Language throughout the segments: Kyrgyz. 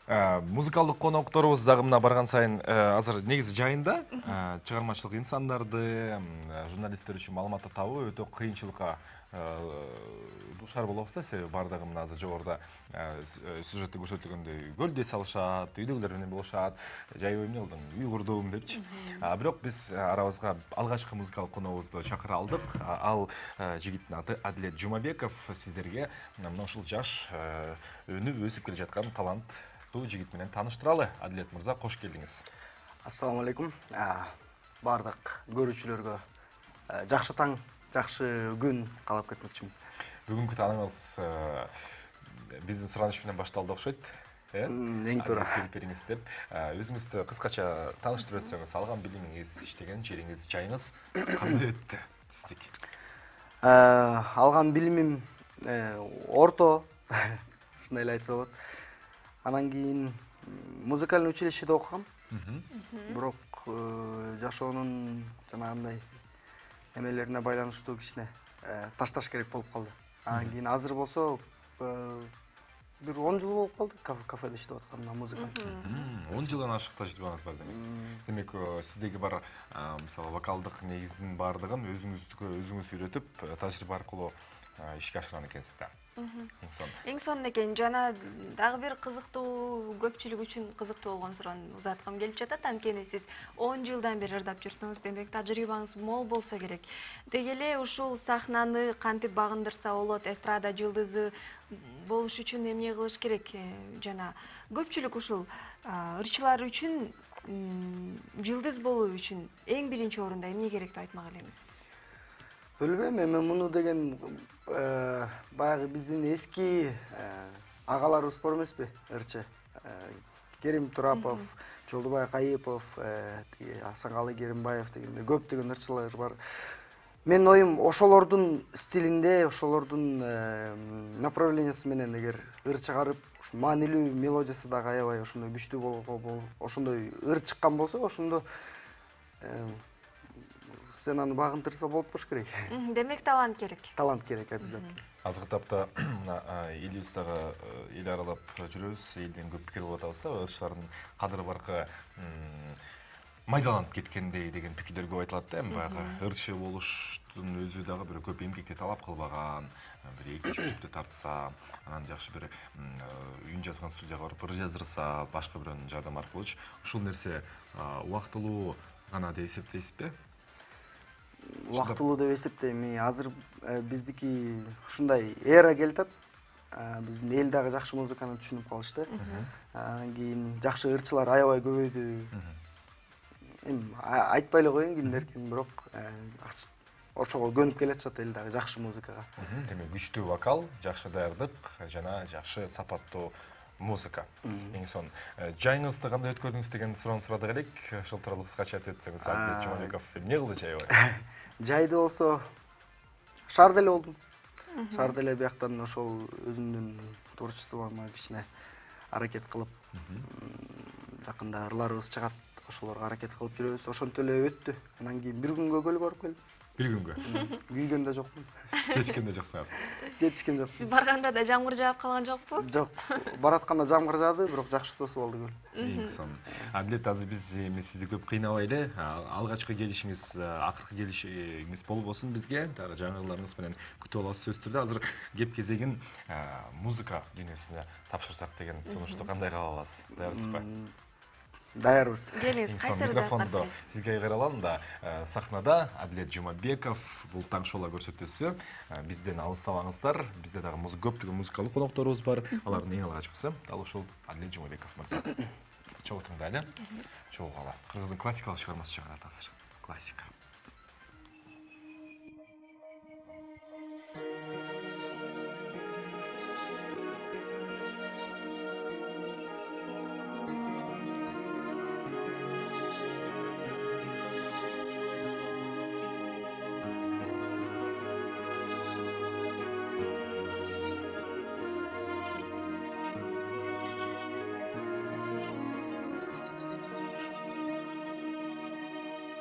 Музыкалдык конокторубуз дагы мына барган сайын азыр негизи жайында чыгармачылык инсандарды, журналисттер үчүн маалыматты табуу өтө кыйынчылыкка душар болобуз да, себеби бардыгы мына азыр жогоруда сюжетте көрсөтүлгөндөй көлдө салышат, үйдөгүлөр менен болушат, жайбай эмне кылдың, үй курдум депчи. Бирок биз арабызга алгачкы музыкалык коногубузду чакыра алдык. Ал жигиттин аты Адилет Жумабеков. Сиздерге мына ушул жаш өнүп өсүп келе жаткан талант жигит менен тааныштыралы. Адилет мырза, кош келдиңиз. Ассаламу алейкум. Бардык көрүүчүлөргө жакшы таң, жакшы күн каалап кетмекчимин. Бүгүнкү тааныгыңыз биздин сураныш менен башталды окшойт. Эң туура. Келип бериңиз деп. Өзүңүздү кыскача тааныштырып өтсөңүз, алган билимиңиз, иштеген жериңиз, жайыңыз кандай өттү сиздики? Алган билимим орто, ушундай эле айтса болот. Анан кийин музыкальный училищеде окугам. Бирок жашоонун жанагындай эмелерине байланыштуу кичине ташташ керек болуп калды. Анан кийин азыр болсо бир 10 жыл болуп калды кафеде иштеп атканына музыка. 10 жылдан ашык тажрыйбаңыз бар демек. Демек, сиздеги бар мисалы вокалдык негиздин бардыгын өзүңүз үйрөтүп, тажрыйба аркылуу ишке ашырган экенсиз да. Эң сонун экен. Жана дагы бир кызыктуу, көпчүлүк үчүн кызыктуу болгон суроону узаткым келип жатат. Анткени сиз 10 жылдан бери ырдап жүрсөңүз, демек тажрыйбаңыз мол болсо керек. Деги эле ушул сахнаны кантип багындырса болот, эстрада жылдызы болуш үчүн эмне кылыш керек? Жана көпчүлүк ушул ырчылар үчүн жылдыз болуу үчүн эң биринчи орунда эмне керек деп айтмак элеңиз? Билбейм, эми муну деген баягы биздин эски агаларыбыз бар эмеспи, ырчы. Керим Турапов, Жолдубай Кайыпов, Асанкалы Керимбаев дегендей көптөгөн ырчылар бар. Менин оюм ошолордун стилинде, ошолордун направлениясы менен эгер ыр чыгарып, маанилүү мелодиясы дагы аябай ошондой күчтүү ошондой ыр чыккан болсо, ошондо сценаны багындырса болуп болуш керек. Демек талант керек. Талант керек обязательно. Азыркы тапта элибиздагы эл аралап жүрөбүз, элден көп пикир болуп атабыз да, ырчылардын кадыры баркы майдаланып кеткендей деген пикирлер көп айтылат да. Эми баягы ырчы болуштун өзү дагы бир көп эмгекти талап кылбаган, бир 2-3 күндө тартса, анан жакшы бир үн жазган студияга барып ыр жаздырса, башка бирөөнүн жардамы аркылуучу ушул нерсе убактылуу гана деп эсептейсизби? Убактылуу деп эсептейм. Азыр биздики ушундай эра келатат. Биздин эл дагы жакшы музыканы түшүнүп калышты. Анан кийин жакшы ырчылар аябай көбөйдү. Эми айтпай эле коеюн кимдер экен, бирок ошого көнүп келатышат эл дагы жакшы музыкага. Демек, күчтүү вокал, жакшы даярдык жана жакшы сапаттуу музыка. Эң сонун. Жайыңызды кандай өткөрдүңүз деген суроону сурадык элек. Ошол тууралуу кыскача айтып өтсөңүз, Адилет Жумабеков эмне кылды жайбай? Жайды болсо шаарда эле болдум. Шаарда эле бияктан ошол өзүмдүн творчествомо кичине аракет кылып, жакында ырларыбыз чыгат, ошолорго аракет кылып жүрөбүз. Ошентип эле өттү. Анан кийин бир күнгө көлүп барып келдим. Бир күнгө? Күйгөн да жокмун. Жетишкен да жоксуңар? Жетишкен жокмун. Сиз барганда да жамгыр жаап калган жокпу? Жок. Баратканда жамгыр жаады, бирок жакшы тосуп алды көл. Эң сонун. Адилет, азыр биз эми сизди көп кыйнабай эле, алгачкы келишиңиз, акыркы келишиңиз болбосун бизге, дагы жаңы ырларыңыз менен күтүп алабыз сөзсүз түрдө. Азыр кеп кезегин музыка дүйнөсүнө тапшырсак деген сунушту кандай кабыл аласыз? Даярсызбы? Даярбыз. Келиңиз, кайсы микрофонду сизге кайралам да. Сахнада Адилет Жумабеков, бул таң шоу көрсөтүүсү. Бизден алыстабаңыздар. Бизде дагы көптөгөн музыкалык конокторубуз бар. Алардын эң алгачкысы дал ушул Адилет Жумабеков мырза. Чогуу тыңдайлы. Чогуу кала. Кыргыздын классикалык чыгармасы чыгарат азыр. Классика.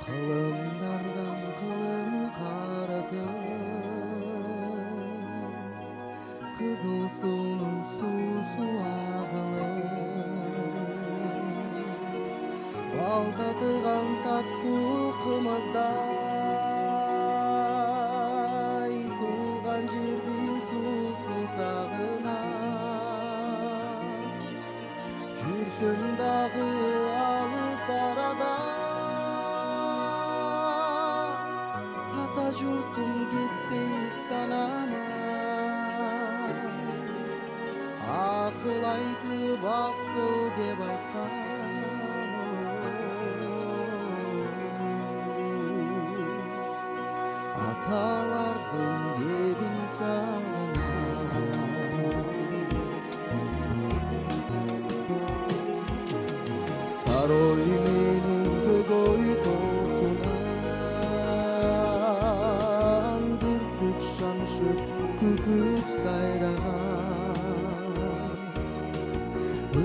Кылымдардан кылым карадым, кызыл суунун суусу агылып, бал татыган таттуу кымыздай туулган жердин суусун сагынам жүрсөм дагы алыс арада ата журтум кетпейт санама акыл айтып асыл деп айткан аталардын кебин сагынам сарой менин көгөй тоосунан бүркүт шаңшып күкүк сайраган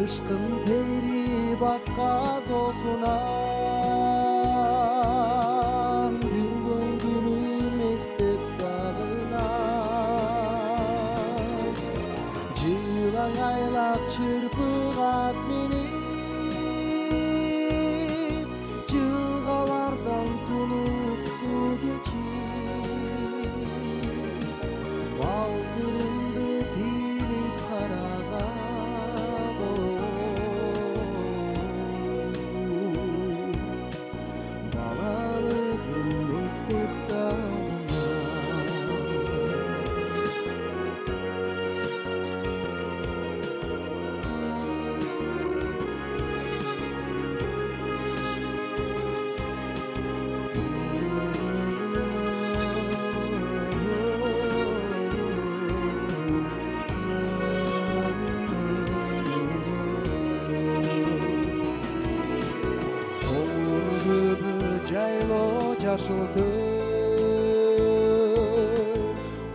ышкын тери баска соосунан жүргөн күнүм эстеп сагынам жылаң айлак чырпыгат минип жылгалардан тунук суу кечип балтырымды тийип караган балалыгым эстеп жайлоо жашыл көл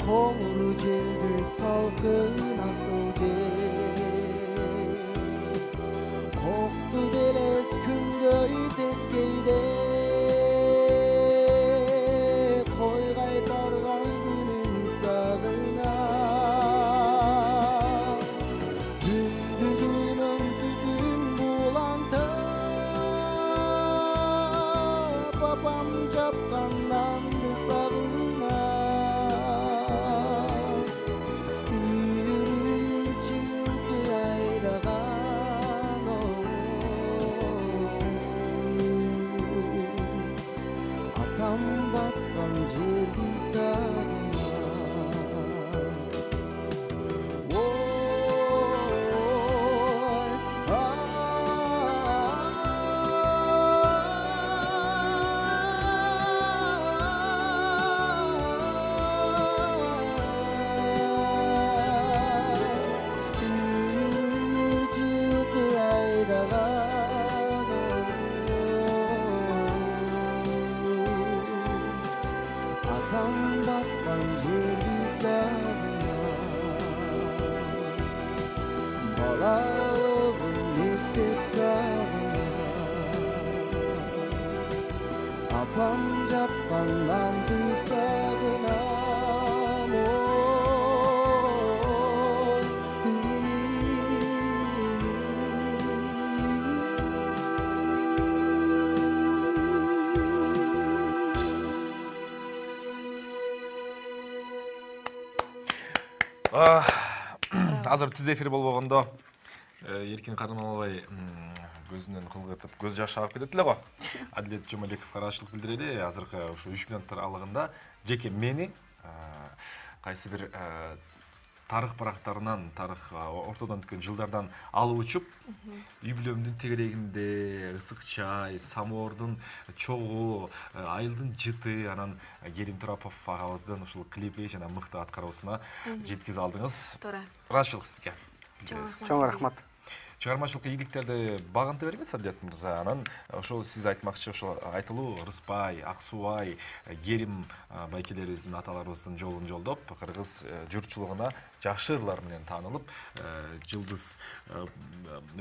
коңур жерди салкын асыл жер кокту белес күнгөй тескейде кой кайтарган күнүм сагынам түндүгүнөн түтүн булантып папам жапкан нанды сагынам үйүр жылкы айдаган атам баскан жерди сагынам атам баскан жерди сагынам балалыгым эстеп сагынам апам жапкан нанды сагынам азыр түз эфир болбогондо эркин кармалбай көзүнөн кыл кытып көз жашы агып кетет эле го. Адилет Жомалековго ыраазычылык билдирели. Азыркы ушу 3 минуттар аралыгында жеке мени кайсы бир тарых барактарынан, тарых ортодон өткөн жылдардан алып учуп, үй бүлөмдүн тегерегинде ысык чай, самоордун чогу, айылдын жыты, анан Керим Турапов агабыздын ушул клипи жана мыкты аткаруусуна жеткизе алдыңыз. Туура. Ыраазычылык сизге. Чоң рахмат. Чыгармачылык ийгиликтерди багынта бериңиз, Адилет мырза. Анан ошол сиз айтмакчы ошол айтылуу Рыспай, Аксубай, Керим байкелерибиздин, аталарыбыздын жолун жолдоп, кыргыз журтчулугуна жакшы ырлар менен таанылып, жылдыз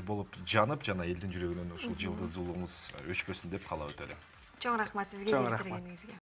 болуп жанып, жана элдин жүрөгүнөн ушул жылдыз улуңуз өчпөсүн деп каалап өтөлү. Чоң рахмат сизге. Чоң рахмат.